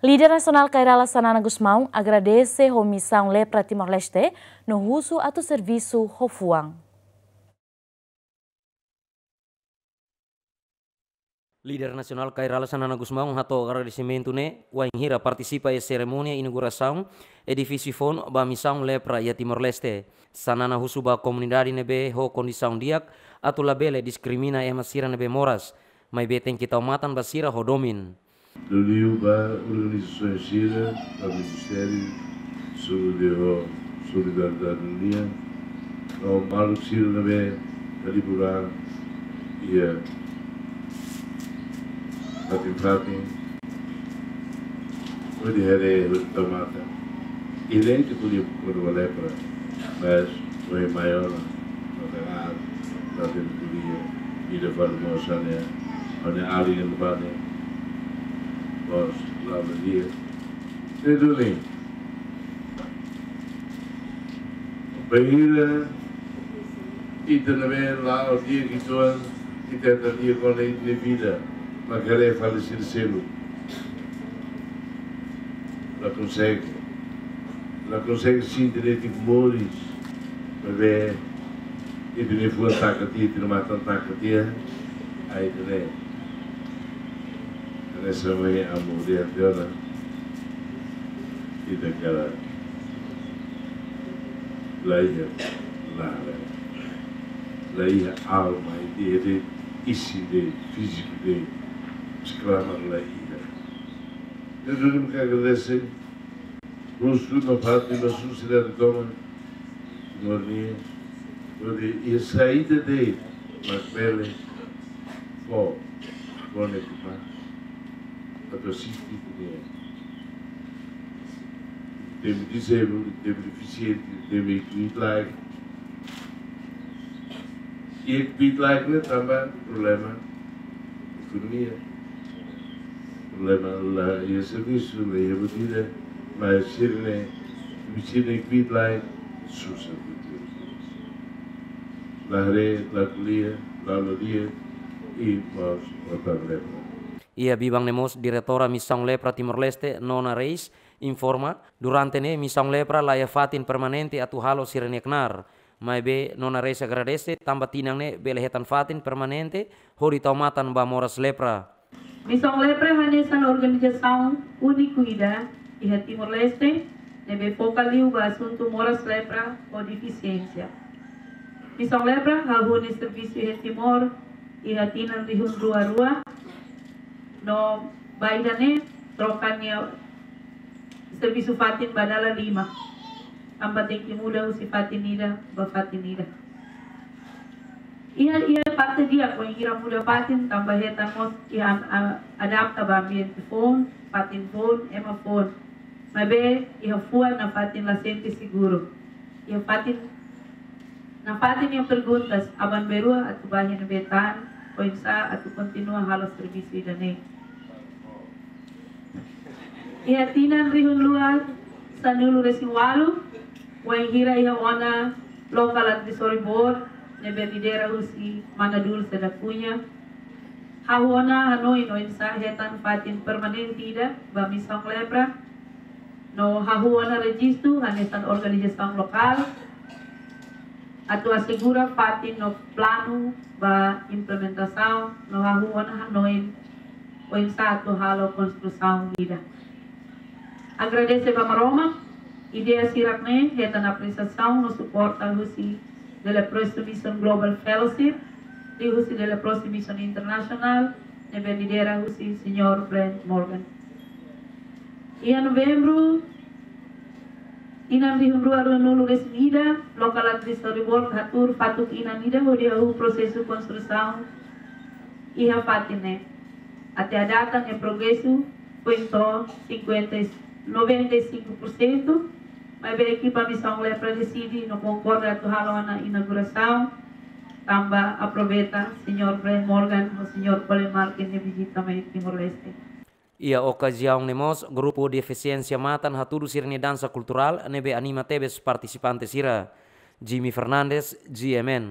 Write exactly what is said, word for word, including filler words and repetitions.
Líder nasionál Kay Rala Xanana Gusmão agradese ho Misaun Lepra Timor-Leste no husu atu servisu ho fuan. Líder nasionál Kay Rala Xanana Gusmão hato'o agradesimentu ne'e wainhira partisipa iha serimónia inaugurasaun edifísiu foun ba Misaun Lepra iha Timor-Leste. Xanana husu ba komunidade ne'ebé ho kondisaun di'ak atu labele diskrimina ema sira ne'ebé moras, maibé tenke tau matan ba sira ho domin. Liuliu ba organizasaun sira, ba ministériu, Saúde ho Solidariedade nian, no maluk sira ne'ebé halibur an iha fatin-fatin, hodi haree, hodi tau matan. Ida-ne'e ita ko'alia kona-ba lepra, mas ohin mai ona, no tenke, no tenke ko'alia, ida fali mós hanesan, hanesan alin ne'ebé bos lama dia. Ne'e duni. Bainhira ita ne'ebé la'o di'ak uitoan, ita hetan di'ak ona ita-nia vida, mak haree fali sira seluk. La konsege. La konsege sente de'it moris. Maibé ita-nia fuan taka tiha, ita-nia matan taka tiha, ai ita-nia. Hanesan ohin amu dehan tiha ona, ita kala la iha, la, la iha alma, ita iha de'it isin de'it, fíziku de'it, mas klamar la iha. Entaun, ita agradese, husu nafatin ba sira ne'ebé toman mornia, hodi iha saida de'it mak bele fó, fó ne'e tuma, atu asiste ita-nia, ita-nia disabled, ita-nia defisiente, ita-nia kbiit-laek. Iha kbiit-laek ne'e tanba problema ekonomia. Problema la iha servisu, la iha buat ida, mas sira-ne'e, sira-ne'e kbiit-laek susar. La haree, la ko'alia, la ladi'ak, i mós la problema. Iha biban ne'e mós Diretora Misaun Lepra Timor-Leste, Nona Reis, informa, durante ne'e Misaun Lepra la iha fatin permanente atu halo sira-nia knaar. Maibé Nona Reis agradese tanba tinan ne'e bele hetan fatin permanente hodi tau matan ba moras lepra. Misaun Lepra hanesan organizasaun úniku ida iha Timor-Leste ne'ebé foka liu ba asuntu moras lepra ho defisiénsia. Misaun Lepra hahú nia servisu iha Timor iha tinan rihun rua rua, no ba ida-ne'e troka nia servisu fatin ba dala lima. Tanba tenke muda husi fatin ida ba fatin ida. Iha, iha parte di'ak wainhira muda fatin tanba hetan mós iha, a-, adapta ba ambiente foun, fatin foun, ema foun. Maibé iha fuan nafatin la sente seguru. Iha fatin, nafatin iha perguntas, aban-bainrua atu ba iha ne'ebé tan, oinsá atu kontinua halo servisu ida-ne'e. Iha tinan rihun rua sanulu-resin-ualu, wainhira iha ona Local Advisory Board ne'ebé lidera husi Mana Dulce da Cunha, hahú ona hanoin oinsá hetan fatin permanente ida ba Misaun Lepra, no hahú ona rejistu hanesan organizasaun lokál, atu asegura fatin no planu ba implementasaun, no hahú ona hanoin oinsá atu halo konstrusaun ida. Agradese ba Maromak, ideia sira-ne'e hetan apresiasaun no suporta husi The Leprosy Mission Global Fellowship, liuhusi The Leprosy Mission International, ne'ebé lidera husi Señór Brent Morgan. Iha Novembru, tinan rihun rua ruanulu-resin-ida, Local Advisory Board hatuur fatuk-inan ida hodi hahú prosesu konstrusaun iha fatin ne'e. Até à data nia progresu foin to'o cinquenta, noventa e cinco por cento, maibé ekipa Misaun Lepra deside no konkorda atu halo ona inaugurasaun, tanba aproveita Señór Brent Morgan no Señór Colin Markin nia vizita mai Timor-Leste. Iha okaziaun ne'e mós, grupu defisiénsia matan hatudu sira-nia dansa kulturál ne'ebé anima tebes partisipante sira. Jimmy Fernandes, G M N.